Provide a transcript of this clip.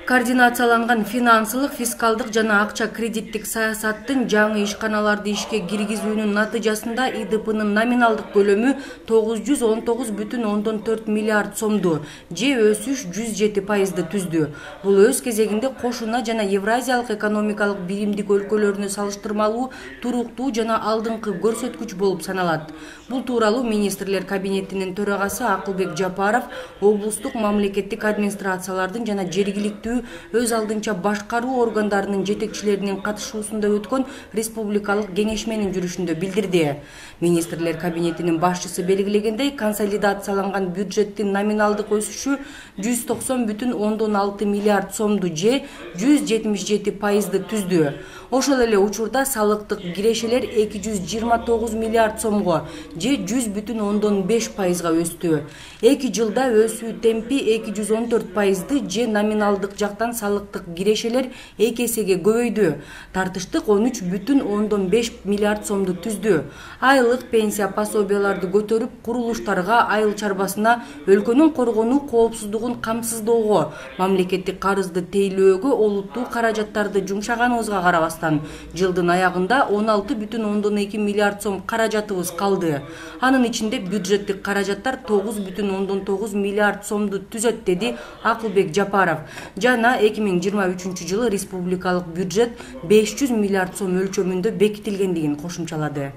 координацияланган финансылык, фискалдык жана акча кредиттик саясаттын жаңы ишканаларды ишке киргизүүнүн натыйжасында ИДПнын номиналдык көлөмү 919,4 миллиард сомду же өсүш 107%ды түздү. Бул өз кезегинде кошуна жана Евразиялык экономикалык биримдик өлкөлөрүнө салыштырмалуу туруктуу жана алдыңкы көрсөткүч болуп саналат. Бул тууралуу министрлер кабинетинин төрагасы Акылбек Жапаров облустук мамлекеттик администрациялардын жана жергиликтүү өз алдынча башкаруу органдарынын жетекчилеринин катышуусунда өткөн республикалык кеңешменин жүрүшүндө билдирди. Министрлер кабинетинин башчысы белгилегендей, консолидацияланган бюджеттин номиналдык өсүшү 190,6 миллиард сомду же 177%ды түздү. Ошол эле учурда салыктык кирешелер 229 миллиард сомго же 100,5%га өстү. 2 жылда өсүү темпи 214%ды же номиналдык жактан салыктык кирешелер 2 эсеге көбөйдү. Тартыштык 13,5 миллиард сомду түздү. Айлык пенсия пособияларды көтөрүп, курулуштарга, айыл чарбасына, өлкөнүн коргонуу коопсуздугун камсыздоого, мамлекеттик карызды тейлөөгө олуттуу каражаттарды жумшаганыбызга карабастан, жылдын аягында 16,2 миллиард сом каражатыбыз калды. Анын ичинде бюджеттик каражаттар 9,9 миллиард сомду түзөт, деди Акылбек Жапаров. Жана 2023 жылы республикалык бюджет 500 миллиард сом өлчөмүндө бекитилгендигин кошумчалады.